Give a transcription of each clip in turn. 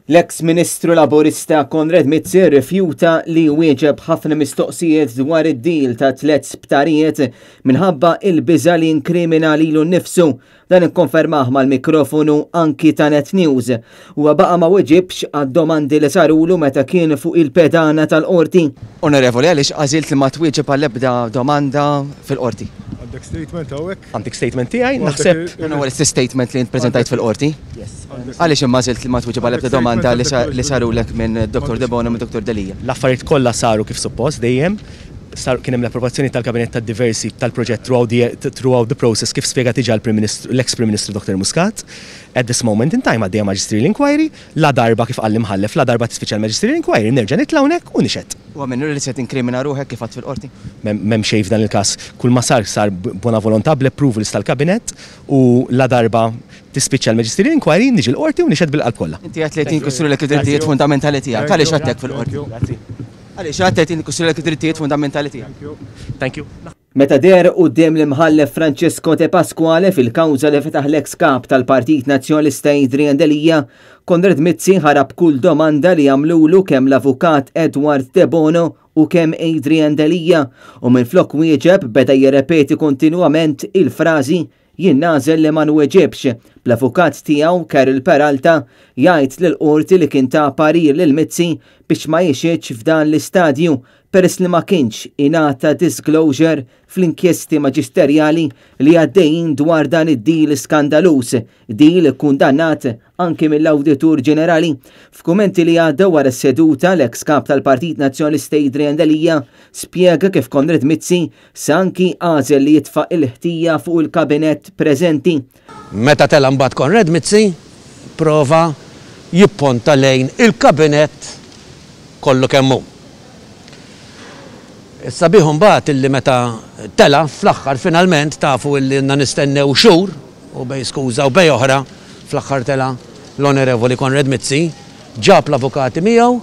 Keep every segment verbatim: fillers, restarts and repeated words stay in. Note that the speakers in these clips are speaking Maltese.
L-eks Ministru Laburista Konrad Mizzi rrifjuta li wieġeb ħafna mistoqsijiet dwar id-deal ta' tliet sptarijiet minħabba il-biża li inkrimina lilu nnifsu. Dan ikkonfermah mal-mikrofonu anki ta' Net News. Huwa baqa' ma weġibx għad-domandi li sarulu meta kien fuq il-pedana tal-qorti. Onorevoli, għaliex għażilt li ma twieġeb għall-ebda domanda fil-qorti? Għandek statement hawnhekk? Għandek statement tiegħi, naħseb. Dan huwa l-istess statement li int preżentajt fil-qorti. Għaliex imma għażilt li ma twieġeb għall-ebda domanda li sarulek minn Dottor Debono u minn Dottor Delia? L-affarijiet kollha saru kif suppost dejjem. Sar kien hemm l-approvazzjoni tal-Kabinett tad-diversi tal-proġett throughout the, throughout the process kif spjega diġà l-Prim Ministru, l-ex Prim Ministru Dottor Muscat. At this moment in time għaddejja magisterial inquiry, la darba kif qal l-imħallef, la darba tispiċċa l-magisterial inquiry, nerġa' nitla' hawnhekk u nixhed. Huwa minnu li se tinkrimina ruħek kif għadt fil-qorti? M'hemm xejn f'dan il-każ. Kull ma sar sar bona volontà bl-approvals tal-Kabinett u la darba tispiċċa l-magisterial inquiry niġi l-qorti u nixhed bil-qalb kollha. Inti għedt li qed jinkisrulek id-drittijiet fundamentali tiegħek. Għaliex għedtek fil-qorti? Grazzi. Għaliex għedt jinkisrulek id-drittijiet fundamentali tiegħek? Thank you. Meta deher quddiem l-imħallef Francesco De Pasquale fil-kawża li fetaħ l-ex kap tal-Partit Nazzjonalista Adrian Delia, Konrad Mizzi ħarab kull domanda li għamlulu kemm l-avukat Edward Debono u kemm Adrian Delia u minflok wieġeb beda jirrepeti kontinwament il-frażi jien nagħżel li ma nweġibx. Bl-avukat tiegħu Karol Peralta jgħid lill-qorti li kien ta parir lil Mizzi biex ma jixhidx f'dan l-istadju peress li ma kienx ingħata disclosure fl-inkjesti maġisterjali li għaddejjin dwar dan id-deal skandaluż, deal kundannat anki mill-Awditur Ġenerali. F'kummenti li għaddew wara s-seduta, l-ex kap tal-Partit Nazzjonalista Adrian Delia spjega kif Konrad Mizzi sa anki għażel li jitfa' il-ħtija fuq il-kabinett preżenti. Meta tela' mbagħad Konrad Mizzi prova jipponta lejn il-kabinett kollu kemm hu. Issa bih mbagħad illi meta tela' fl-aħħar finalment tafu illi għandna nistennew xhur u bej skuża u bej oħra fl-aħħar tela' l-Onorevoli Konrad Mizzi ġab l-avukati miegħu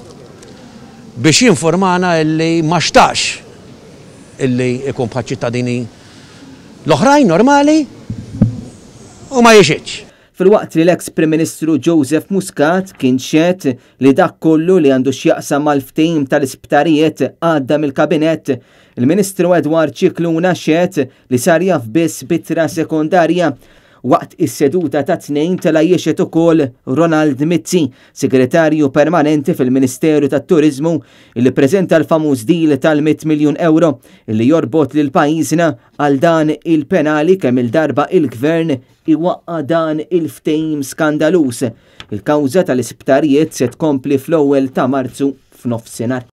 biex jinformana illi ma xtaqx illi ikun bħal ċittadini l-oħrajn normali u ma jixhidx. Filwaqt li l-ex Prim Ministru Joseph Muscat kien xehed li dak kollu li għandu x'jaqsam mal-ftehim tal-isptarijiet għadda mill-kabinett, il-Ministru Edward Scicluna xehed li sar jaf biss b'ittra sekondarja. Waqt is-seduta ta' tnejn tela' jixhed ukoll Ronald Mizzi, segretarju permanenti fil-Ministeru tat-Turiżmu, li preżenta l-famuż deal tal-mitt miljun euro li jorbot lil pajjiżna għal dan il-penali kemm il-darba il-gvern iwaqqa' dan il-ftehim skandaluż. Il-kawża tal-isptarijiet se tkompli fl-ewwel ta' Marzu f'nofsinhar.